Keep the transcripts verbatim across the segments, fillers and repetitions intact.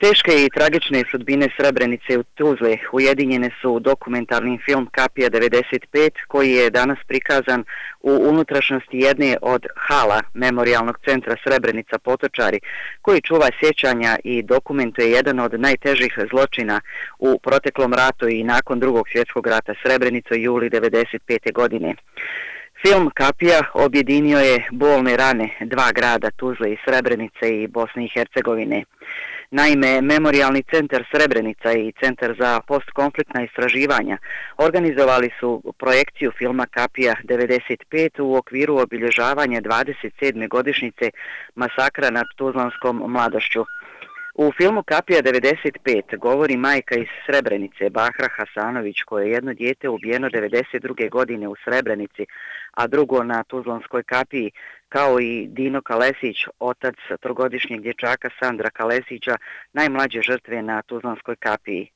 Teške i tragične sudbine Srebrenice u Tuzli ujedinjene su u dokumentarni film Kapija devedeset pet koji je danas prikazan u unutrašnjosti jedne od hala Memorijalnog centra Srebrenica Potočari, koji čuva sjećanja i dokumentuje jedan od najtežih zločina u proteklom ratu i nakon drugog svjetskog rata Srebrenicu juli devedeset pete. godine. Film Kapija objedinio je bolne rane dva grada, Tuzle i Srebrenice i Bosne i Hercegovine. Naime, Memorijalni centar Srebrenica i Centar za postkonfliktna istraživanja organizovali su projekciju filma Kapija devedeset pet u okviru obilježavanja dvadeset sedme godišnjice masakra nad tuzlanskom mladošću. U filmu Kapija devedeset pet govori majka iz Srebrenice, Bahra Hasanović, koje je jedno dijete ubijeno devedeset druge. godine u Srebrenici, a drugo na Tuzlanskoj kapiji, kao i Dino Kalesić, otac trogodišnjeg dječaka Sandra Kalesića, najmlađe žrtve na Tuzlanskoj kapiji.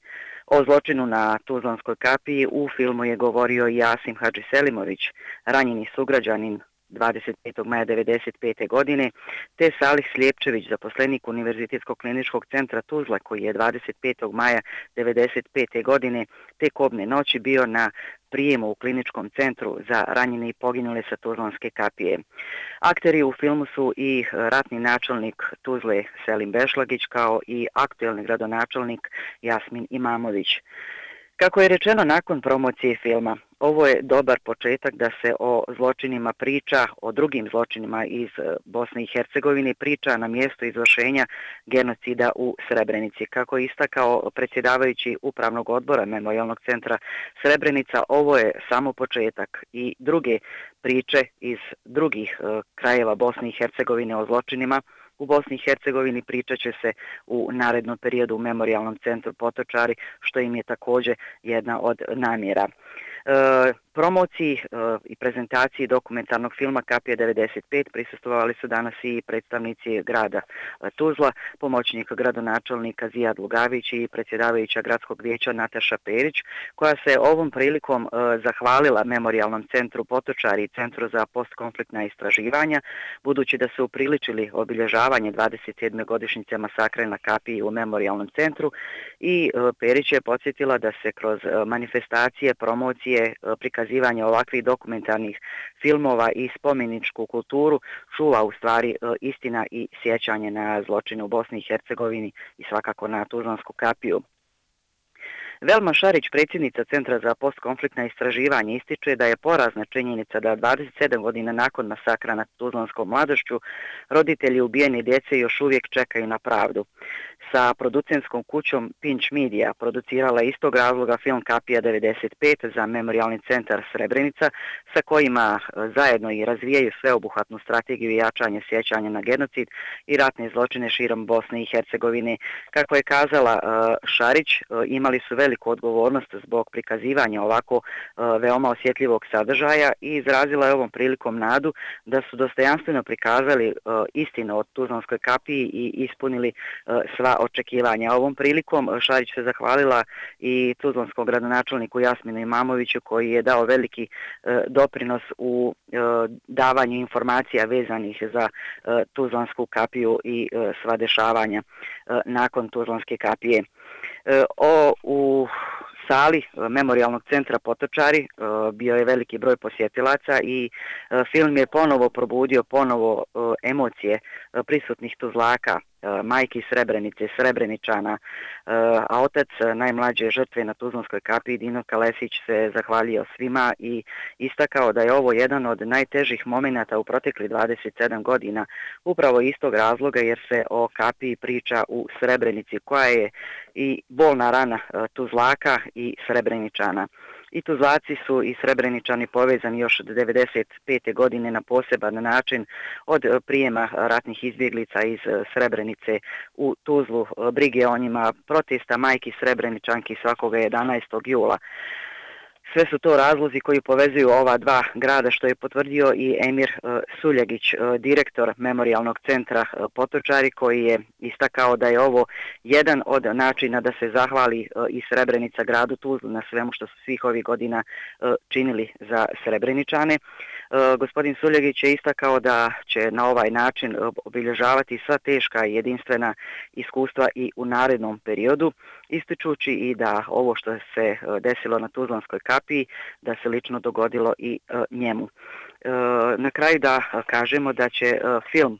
O zločinu na Tuzlanskoj kapiji u filmu je govorio i Jasim Hadžiselimović, ranjeni sugrađanin dvadeset petog maja devedeset pete. godine, te Salih Slijepčević, zaposlenik Univerzitetskog kliničkog centra Tuzla, koji je dvadeset petog maja devedeset pete. godine te kobne noći bio na prijemu u kliničkom centru za ranjene i poginule sa Tuzlanske kapije. Akteri u filmu su i ratni načelnik Tuzle Selim Bešlagić, kao i aktuelni gradonačelnik Jasmin Imamović. Kako je rečeno nakon promocije filma, ovo je dobar početak da se o zločinima priča, o drugim zločinima iz Bosne i Hercegovine priča na mjestu izvršenja genocida u Srebrenici. Kako je istakao predsjedavajući Upravnog odbora Memorijalnog centra Srebrenica, ovo je samo početak i druge priče iz drugih krajeva Bosne i Hercegovine o zločinima u Bosni i Hercegovini pričat će se u narednom periodu u Memorijalnom centru Potočari, što im je također jedna od namjera. E, promociji e, i prezentaciji dokumentarnog filma Kapija devedeset pet prisustvovali su danas i predstavnici grada Tuzla, pomoćnik gradonačelnika Zijad Lugavić i predsjedavajuća gradskog vijeća Nataša Perić, koja se ovom prilikom e, zahvalila Memorijalnom centru Potočari i Centru za postkonfliktna istraživanja, budući da su upriličili obilježavanje dvadeset sedme. godišnjice masakra na Kapiji u Memorijalnom centru, i e, Perić je podsjetila da se kroz e, manifestacije, promocije, prikazivanja ovakvih dokumentarnih filmova i spomeničku kulturu čuva u stvari istina i sjećanje na zločine u Bosni i Hercegovini i svakako na Tuzlansku kapiju. Velma Šarić, predsjednica Centra za postkonfliktna istraživanja, ističe da je porazna činjenica da dvadeset sedam godina nakon masakra nad Tuzlanskom mladošću roditelji ubijene djece još uvijek čekaju na pravdu. Sa producentskom kućom Pinch Media producirala istog razloga film Kapija devedeset pet za Memorijalni centar Srebrenica, sa kojima zajedno i razvijaju sveobuhvatnu strategiju jačanja sjećanja na genocid i ratne zločine širom Bosne i Hercegovine. Kako je kazala Šarić, imali su veliku odgovornost zbog prikazivanja ovako veoma osjetljivog sadržaja i izrazila je ovom prilikom nadu da su dostojanstveno prikazali istinu o Tuzlanskoj kapiji i ispunili sva očekivanja. Ovom prilikom Šarić se zahvalila i tuzlanskom gradonačelniku Jasminu Imamoviću, koji je dao veliki e, doprinos u e, davanju informacija vezanih za e, Tuzlansku kapiju i e, sva dešavanja e, nakon Tuzlanske kapije. E, o, u sali Memorijalnog centra Potočari bio je veliki broj posjetilaca i film je ponovo probudio ponovo emocije prisutnih Tuzlaka, majki Srebrenice, Srebreničana, a otac najmlađe žrtve na Tuzlanskoj kapiji Dino Kalesić se zahvalio svima i istakao da je ovo jedan od najtežih momenata u protekli dvadeset sedam godina, upravo istog razloga jer se o kapiji priča u Srebrenici, koja je i bolna rana Tuzlaka i Srebreničana. I Tuzlaci su i Srebreničani povezani još od devedeset pete. godine na poseban način od prijema ratnih izbjeglica iz Srebrenice u Tuzlu, brige o njima, protesta majki Srebreničanki svakoga jedanaestog jula. Sve su to razlozi koji povezuju ova dva grada, što je potvrdio i Emir Suljegić, direktor Memorijalnog centra Potočari, koji je istakao da je ovo jedan od načina da se zahvali i Srebrenica gradu Tuzlu na svemu što su svih ovih godina činili za Srebreničane. Gospodin Suljegić je istakao da će na ovaj način obilježavati sva teška i jedinstvena iskustva i u narednom periodu, ističući i da ovo što se desilo na Tuzlanskoj kapiji, da se lično dogodilo i njemu. Na kraju da kažemo da će film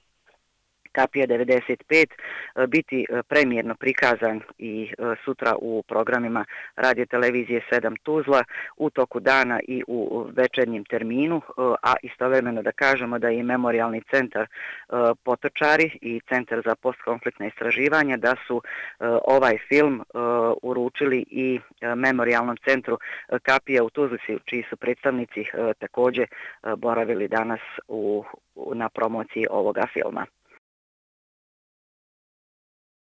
Kapija devedeset pet biti premijerno prikazan i sutra u programima radio televizije sedam Tuzla u toku dana i u večernjem terminu, a istovremeno da kažemo da je i Memorijalni centar Potočari i Centar za postkonfliktna istraživanja da su ovaj film uručili i Memorijalnom centru Kapija u Tuzli, čiji su predstavnici također boravili danas u, na promociji ovoga filma.